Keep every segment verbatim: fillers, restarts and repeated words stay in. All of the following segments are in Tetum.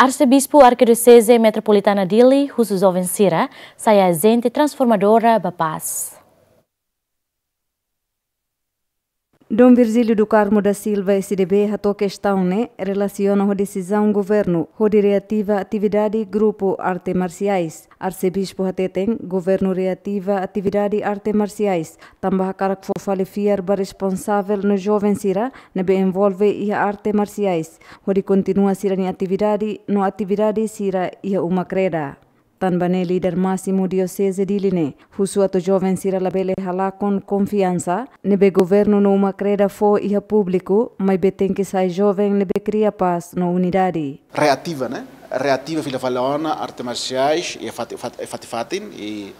Arsebispu Arkidioseze Metropolitana Dili husu joven sira sai ajente transformadora ba pás. Dom Virgílio do Carmo da Silva, S D B, hato'o kestaun ne'e relasiona ho desizaun governu hodi reativa atividade grupu arte marsiais. Arsebispu hateten, governu reativa atividade arte marsiais tanba hakarak fó fali fiar ba responsavel no joven sira ne'ebé envolve iha arte marsiais, hodi kontinua sira-nia atividade no atividade sira iha uma kreda. Tanba ne'e, líder másimu Dioseze Dili ne'e husu atu joven sira labele halakon konfiansa ne'ebé governu no uma kreda fó iha públiku, maibé tenke sai joven ne'ebé kria pás no unidade. Reativa, ne'e? Reativa fila fali ona arte marsiais iha fati-, fat-, iha fatin-fatin, i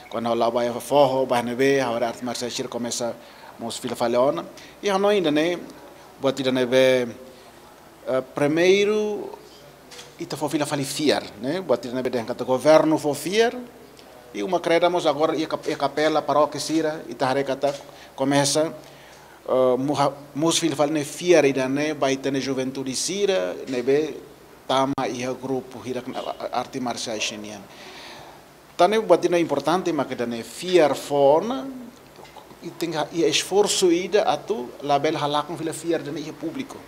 kuandu ha'u la'o ba iha foho, ba ne'ebé, ha'u haree arte marsiais sira komesa mós fila fali ona. I ha'u hanoin ida-ne'e, buat ida ne'ebé, eh, primeiru, ita fó fila fali fiar, ne'e? Buat ida ne'ebé dehan katak governu fó fiar, i uma kreda mós agora iha kap-, iha kapela, parókia sira, ita haree katak komesa, eh, muha-, mós fila fali ne'e fiar ida-ne'e ba ita-nia juventude sira ne'ebé tama iha grupu hirak ne'e, a-, a-, arte marsiais nian. Tan ne'e buat ida importante mak ida-ne'e fiar fó ona, i tenke iha esforsu ida atu labele halakon fila fiar ida-ne'e iha públiku.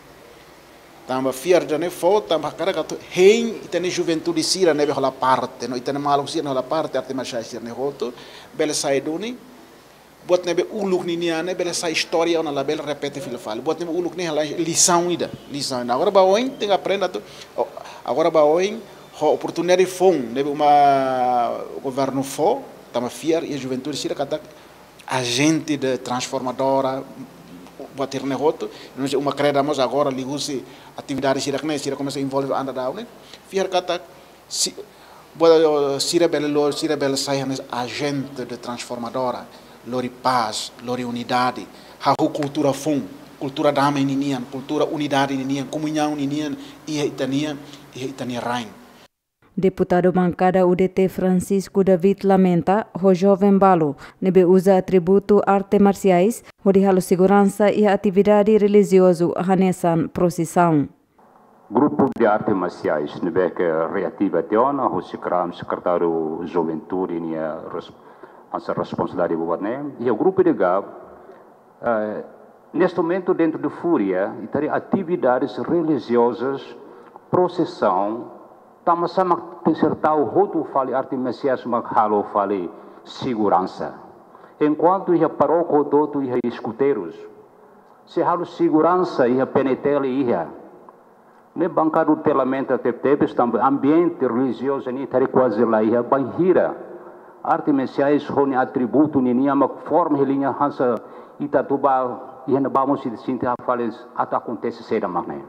Tanba fiar ida-ne'e fó, tanba hakarak atu hein ita-nia juventude sira ne'ebé hola parte, no ita-nia maluk sira ne'e hola parte arte marsiais sira-ne'e hotu, bele sai duni buat ne'ebé uluk ninian ne'e bele sai istória ona, labele repete fila fali. Buat ne'ebé uluk ne'e halo lisaun ida, lisaun ida. Agora ba oin tenke aprende atu, o, agora ba oin ho oportunidade foun ne'ebé uma governu fó, tanba fiar iha juventude sira katak ajente de transformadora, buat hirak ne'e hotu, no se uma kreda mós agora liuhusi atividade sira-ne'e, sira komesa envolve anda dau ne'e. Fiar katak si-, buat, sira bele lo-, sira bele sai hanesan ajente de transformadora, lori pás, lori unidade, hahú kultura foun, kultura dame ninian, kultura unidade ninian, komuñaun ninian, iha ita-nia, iha ita-nia rain. Deputadu bankada U D T Francisco David lamenta ho joven balu ne'ebé uza atributu arte marsiais hodi halo seguransa iha atividade relijiozu hanesan prosisaun. Grupu de arte marsiais ne'ebé ke reativa tiha ona, husi kram sekretáriu juventude nia res-, hanesan responsabilidade buat ne'e. Iha grupu de gab, eh, neste momento dentro de Fúria, ita haree atividades relijiozas, prosisaun, tanba sá mak tenke ser tau hotu fali arte marsiais mak halo fali seguransa. Enkuantu iha parókia hotu-hotu iha eskuteirus, sei halo seguransa iha P N T L iha. Ne'e bankada U D T lamenta tebetebes tanba ambiente relijiozu ne'e ita haree kuaze la iha, bainhira arte marsiais ho nia atributu ninian mak forma hela nia hanesan ita atu bá iha ne'ebá mós ita sente hanesan atu akontese saida mak ne'e.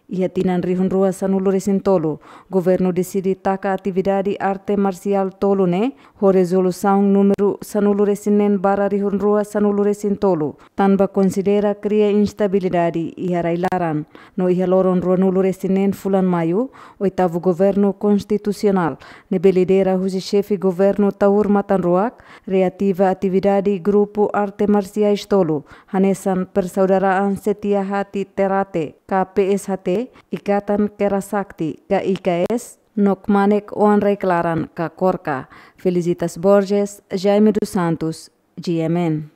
Iha tinan rihun rua sanulu resin tolu, governu deside taka atividade arte marsial tolu ne'e ho rezolusaun númeru sanulu resin neen barra rihun rua sanulu resin tolu, tanba konsidera kria instabilidade iha rai-laran. No iha loron ruanulu resin neen fulan Maiu, oitavu governu konstitusionál, ne'ebé lidera husi xefe governu Taur Matan Ruak, reativa atividade grupu arte marsiais tolu, hanesan Persaudaraan Setia Hati Terate, ka P S H T, Ikatan Kera Sakti, ka I K S, no Kmanek Oan Rai Klaran, ka KORKA. Felicitas Borges, Jaime dos Santos, G M N.